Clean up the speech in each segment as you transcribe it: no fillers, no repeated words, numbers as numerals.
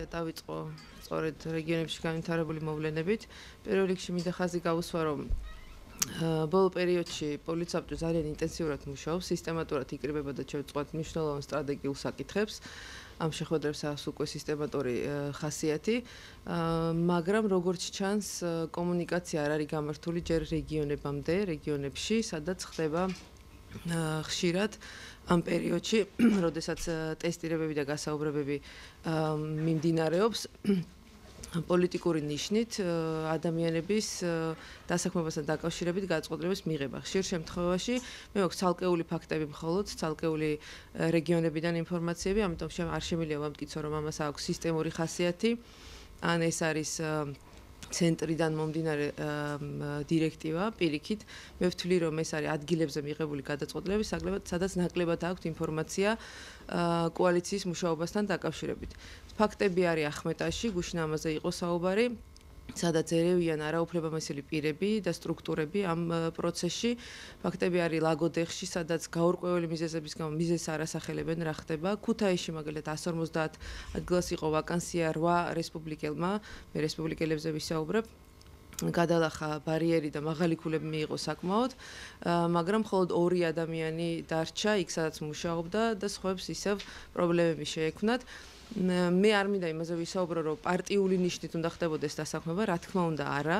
დავიწყო სწორედ რეგიონებში განვითარებული მოვლენებით. პირველ რიგში მინდა ხაზი გავუსვა, რომ ბოლო პერიოდში პოლიცია ძალიან ინტენსიურად მუშაობს, სისტემატურად იკრიბება და შევწყვეტ მნიშვნელოვან სტრატეგიულ საკითხებს. ამ შეხვედრებს აქვს უკვე სისტემატური ხასიათი, მაგრამ როგორც ჩანს, კომუნიკაცია არ არის გამართული ჯერ რეგიონებში, სადაც ხდება ხშირად ამ პერიოდში, როდესაც ტესტირებები და გასაუბრებები მიმდინარეობს, პოლიტიკური ნიშნით ადამიანების დასაქმებასთან დაკავშირებით გადაწყვეტილების მიღება. ხშირ შემთხვევაში მე მაქვს ცალკეული ფაქტები მხოლოდ, ცალკეული რეგიონებიდან ინფორმაციები, ამიტომ არ შემიძლია ვამტკიცო, რომ ამას აქვს სისტემური ხასიათი, ან ეს არის ცენტრიდან მომდინარე დირექტივა პირიქით. მე ვთვლი, რომ ეს არის ადგილებზე მიღებული გადაწყვეტილები, სადაც ნაკლებად აქვს ინფორმაცია კოალიციის მუშაობასთან დაკავშირებით. ფაქტები არის ახმეტაში, გუშინ ამაზე იყო საუბარი, სადაც ერევიან არაუფლებამოსილი პირები და სტრუქტურები ამ პროცესში. ფაქტები არის ლაგოდეხში, სადაც გაურკვეველი მიზეზების გამო მიზეზს არ ასახელებენ, რა ხდება. ქუთაისში მაგალითად 150 ადგილას იყო ვაკანსია 8 რესპუბლიკელმა, მე რესპუბლიკელებზე ვისაუბრებ. გადალახა ბარიერი და მაღალი ქულები მიიღო საკმაოდ, მაგრამ მხოლოდ 2 ადამიანი დარჩა იქ, სადაც მუშაობდა და სხვებს ისევ პრობლემები შეექმნათ. მე არ მინდა იმაზე ვისაუბრო, რომ პარტიული ნიშნით უნდა ხდებოდეს დასაქმება, რა თქმა უნდა არა,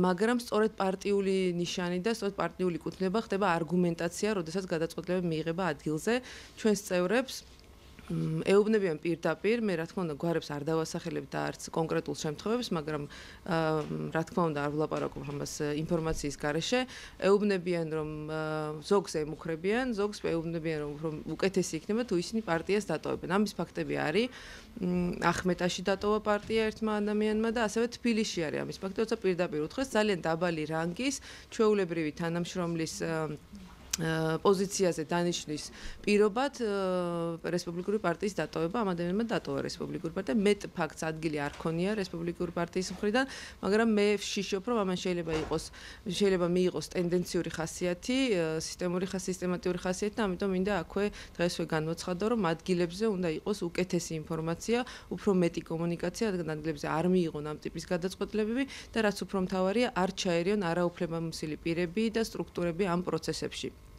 მაგრამ სწორედ პარტიული ნიშანი და სწორედ პარტიული კუთვნება ხდება არგუმენტაცია, როდესაც გადაწყვეტილებები მიიღება ადგილზე. ჩვენს წევრებს ეუბნებიან პირდაპირ, მე რა თქმა უნდა გვარებს არ დავასახელებ და არც კონკრეტულ შემთხვევებს, მაგრამ რა თქმა უნდა არ ვლაპარაკობ ამას ინფორმაციის გარეშე, ეუბნებიან რომ ზოგს ემუქრებიან, ზოგს ეუბნებიან რომ უკეთესი იქნება თუ ისინი პარტიას დატოვებენ. ამის ფაქტები არის, ახმეტაში დატოვა პარტია ერთმა ადამიანმა და ასევე თბილისში არის ამის ფაქტი, როცა პირდაპირ უთხრეს ძალიან დაბალი რანგის ჩვეულებრივი თანამშრომლის პოზიციაზე დანიშნვის პირობად რესპუბლიკური პარტიის დატოვება, ამ ადამიანმა დატოვა რესპუბლიკური პარტია. მეტ ფაქტს ადგილი არ ქონია რესპუბლიკური პარტიის მხრიდან, მაგრამ მე ვშიშობ, რომ ამან შეიძლება მიიღოს ტენდენციური ხასიათი, სისტემატიური ხასიათი და ამიტომ მინდა აქვე დღესვე განვაცხადო, რომ ადგილებზე უნდა იყოს უკეთესი ინფორმაცია, უფრო მეტი კომუნიკაცია, რადგან ადგილებზე არ მიიღონ ამ ტიპის გადაწყვეტილებები და რაც უფრო მთავარია, არ ჩაერიონ არაუფლებამოსილი პირები და სტრუქტურები ამ პროცესებში.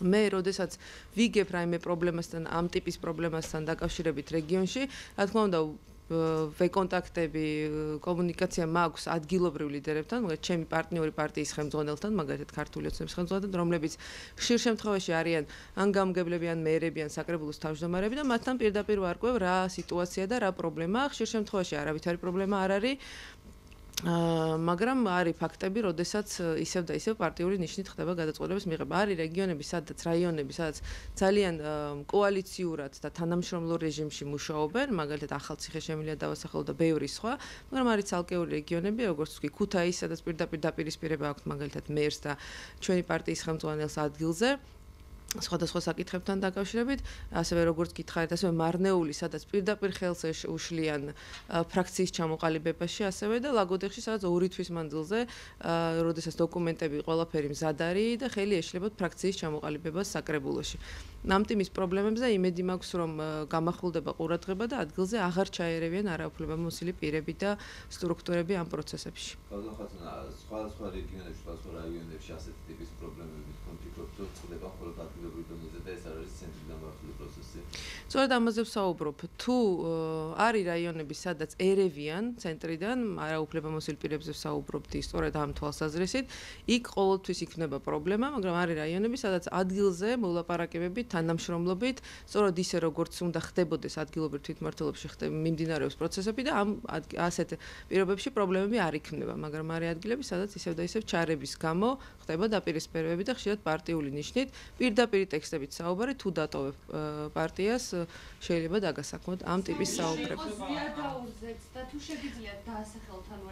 მე როდესაც ვიგებ რაიმე პრობლემასთან, ამ ტიპის პრობლემასთან დაკავშირებით რეგიონში, რა თქმა უნდა ვეკონტაქტები, კომუნიკაცია მაქვს ადგილობრივ ლიდერებთან, მაგალითად ჩემი პარტნიორი პარტიის ხელმძღვანელთან, მაგალითად ქართული ოცნების ხელმძღვანელთან, რომლებიც ხშირ შემთხვევაში არიან ან გამგებლები, ან მეერები, ან საკრებულოს თავმჯდომარეები და მათთან პირდაპირ ვარკვევ რა სიტუაცია და რა პრობლემაა. ხშირ შემთხვევაში არავითარი პრობლემა არ არის. მაგრამ არის ფაქტები, როდესაც ისევ და ისევ პარტიული ნიშნით ხდება გადაწყვეტილების მიღება. არის რეგიონები, რაიონები, სადაც ძალიან კოალიციურად და თანამშრომლურ რეჟიმში მუშაობენ, მაგალითად ახალციხე შემიძლია დავასახელო და ბევრი სხვა, მაგრამ არის ცალკეული რეგიონები, როგორც ვთქვი, ქუთაისი, სადაც პირდაპირ დაპირისპირება აქვს მაგალითად მერს და ჩვენი პარტიის ხელმძღვანელს ადგილზე. სხვადასხვა საკითხებთან დაკავშირებით, ასევე როგორც გითხარით, ასევე მარნეული, სადაც პირდაპირ ხელს უშლიან ფრაქციის ჩამოყალიბებაში, ასევე და ლაგოდეხში, სადაც 2 თვის მანძილზე, როდესაც დოკუმენტები ყველაფერი მზად არის და ხელი ეშლებათ ფრაქციის ჩამოყალიბებას საკრებულოში. ამ ტიპის პრობლემებზე იმედი მაქვს, რომ გამახვილდება ყურადღება და ადგილზე აღარ ჩაერევიან არაუფლებამოსილი პირები და სტრუქტურები ამ პროცესებში. სხვადასხვა რეგიონებში, სხვადასხვა რაიონებში ასეთი ტიპის პრობლემები კონფლიქტები ხდება მხოლოდ ადგილობრივ დონეზე და ეს არ არის ცენტრიდან მართული პროცესი. სწორედ ამაზე ვსაუბრობ. თუ არის რაიონები, სადაც ერევიან ცენტრიდან არაუფლებამოსილ პირებზე ვსაუბრობდი, სწორედ ამ თვალსაზრისით, იქ ყოველთვის იქნება პრობლემა, მაგრამ არის რაიონები, სადაც ადგილზე მოლაპარაკებები თანამშრომლობით, სწორედ ისე როგორც უნდა ხდებოდეს ადგილობრივ თვითმმართველობაში მიმდინარეობს პროცესები და ამ ასეთ პირობებში პრობლემები არ იქნება, მაგრამ არის ადგილები, სადაც ისევ და ისევ ჩარების გამო ხდება დაპირისპირებები და ხშირად პარტიული ნიშნით პირდაპირ ტექსტებით საუბარი, თუ დატოვებ პარტიას, შეიძლება დაგასაქმოთ ამ ტიპის საუბრები.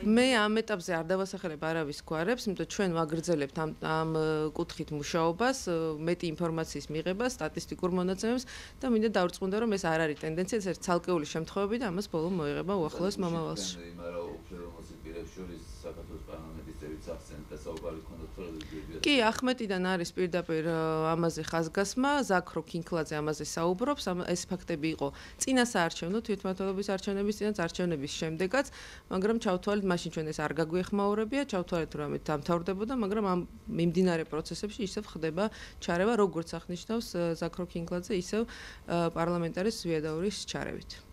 მე ამ ეტაპზე არ დავასახელებ არავის გვარებს, იმიტომ ჩვენ ვაგრძელებთ ამ კუთხით მუშაობას, მეტი ინფორმაციის მიღებას, სტატისტიკურ მონაცემებს და მინდა დავრწმუნდე, რომ ეს არ არის ტენდენცია, ეს არის ცალკეული შემთხვევები და ამას ბოლომ მოიღება უახლოეს მომავალში. მაგრამ უფრო მოსილ პირებს შორის საქართველოს პარლამენტის წევრიც ახსენეთ, და საუბარი ქონდა თორემ კი, ახმეტიდან არის პირდაპირ ამაზე ხაზგასმა, ზაქრო ქინქლაძე ამაზე საუბრობს, ეს ფაქტები იყო წინა საარჩევნო თვითმმართველობის არჩევნების წინაც არჩევნების შემდეგაც, მაგრამ ჩავთვალეთ, მაშინ ჩვენ ეს არ გაგვეხმაურებია, ჩავთვალეთ, რომ ამით დამთავრდებოდა, მაგრამ ამ მიმდინარე პროცესებში ისევ ხდება ჩარევა, როგორც აღნიშნავს ზაქრო ქინქლაძე, ისევ პარლამენტარის ზვიადაურის ჩარევით.